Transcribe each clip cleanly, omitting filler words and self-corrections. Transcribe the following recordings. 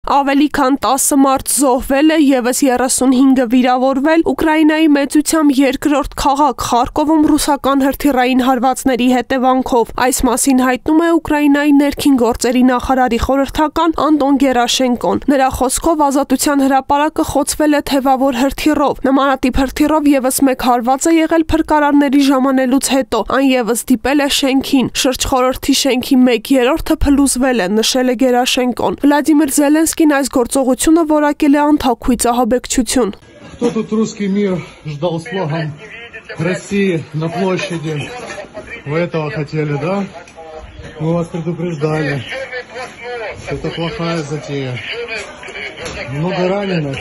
Ավելի քան 10 մարդ զոհվել է, ևս 35-ը վիրավորվել Ուկրաինայի մեծությամբ երկրորդ քաղաք Խարկովում ռուսական հրթիռային հարվածների հետևանքով։ Այս մասին հայտնում է Ուկրաինայի ներքին գործերի նախարարի խորհրդական Անդոն Գերաշենկոն։ Նրա խոսքով Ազատության հրապարակը խոցվել է թևավոր հրթիռով։ Նմանատիպ հրթիռով ևս մեկ հարված է եղել փրկարարների ժամանելուց հետո։ Այն ևս դիպել է շենքին։ Շրջխորհրդի շենքի 1/3-ը փլուզվել է, նշել է Գերաշենկոն։ Վլադիմիր Զելենսկին այս գործողությունը որակել է անթափույց ահաբեկչություն։ Кто тут русский мир ждал с флагом России на площади? Вы этого хотели, да? Мы вас предупреждали. Это плохая затея. Много раненых.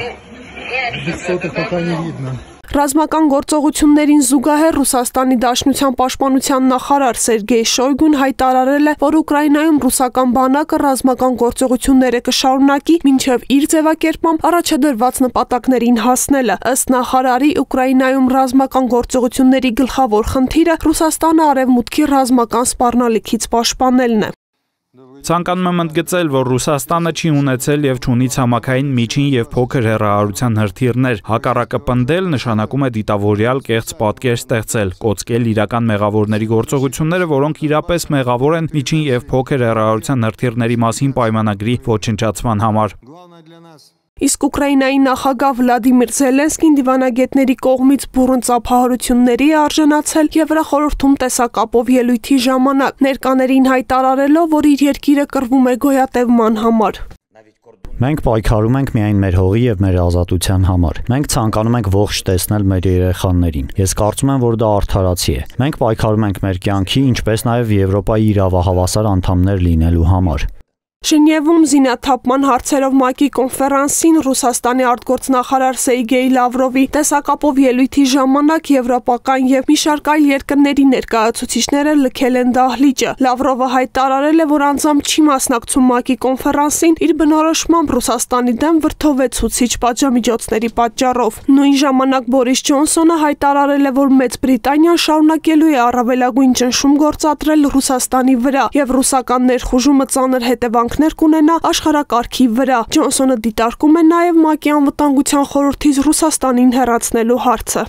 Бесцотых пока не видно. Ռազմական գործողություններին զուգահեռ Ռուսաստանի Դաշնության պաշտպանության նախարար Սերգեյ Շոյգուն հայտարարել է, որ Ուկրաինայում ռուսական բանակը ռազմական գործողությունները կշարունակի, մինչև իր ձևակերպմամբ առաջադրված նպատակներին հասնելը։ Ըստ նախարարի, Ուկրաինայում ռազմական գործողությունների գլխավոր խնդիրը Ռուսաստանը արևմուտքի ռազմական սպառնալիքից պաշտպանելն է։ Ցանկանում եմ ընդգծել, որ Ռուսաստանը չի ունեցել եւ չունի ցամաքային միջին եւ փոքր հեռահարության հրթիռներ։ Հակառակը պնդել նշանակում է դիտավորյալ կեղծ պատկեր ստեղծել, կոծկել իրական մեղավորների գործողությունները, որոնք իրապես մեղավոր են միջին եւ փոքր հեռահարության հրթիռների մասին պայմանագրի ոչնչացման համար։ Իսկ Ուկրաինայի նախագահ Վլադիմիր Զելենսկին դիվանագետների կողմից բուռն ծափահարությունների է արժանացել Եվրախորհրդում տեսակապով ելույթի ժամանակ, ներկաներին հայտարարելով, որ իր երկիրը կռվում է գոյատևման համար։ Մենք պայքարում ենք միայն մեր հողի եւ մեր ազատության համար։ Մենք ցանկանում ենք ողջ տեսնել մեր երեխաներին։ Ես կարծում եմ, որ դա արդարացի է։ Մենք պայքարում ենք մեր կյանքի, ինչպես նաեւ Եվրոպայի իրավահավասար անդամներ լինելու համար։ Ժնևում զինաթափման հարցերով ՄԱԿ-ի կոնֆերանսին Ռուսաստանի արտգործնախարար Սերգեյ Լավրովի տեսակապով ելույթի ժամանակ եվրոպական եւ մի շարք այլ երկրների ներկայացուցիչները լքել են դահլիճը։ Լավրովը հայտարարել է, որ անձամբ չի մասնակցում ՄԱԿ-ի կոնֆերանսին, իր բնորոշմամբ Ռուսաստանի դեմ վրդովեցուցիչ պատժամիջոցների պատճառով։ Նույն ժամանակ Բորիս Ջոնսոնը հայտարարել է, որ Մեծ Բրիտանիան շարունակելու է առավելագույն ճնշում գործադրել Ռուսաստանի վրա եւ ռուսական ներխուժումը ծանր հետևանքներ կունենա աշխարհակարգի վրա։ Ջոնսոնը դիտարկում է նաև ՄԱԿ-ի անվտանգության խորհրդից Ռուսաստանին հեռացնելու հարցը։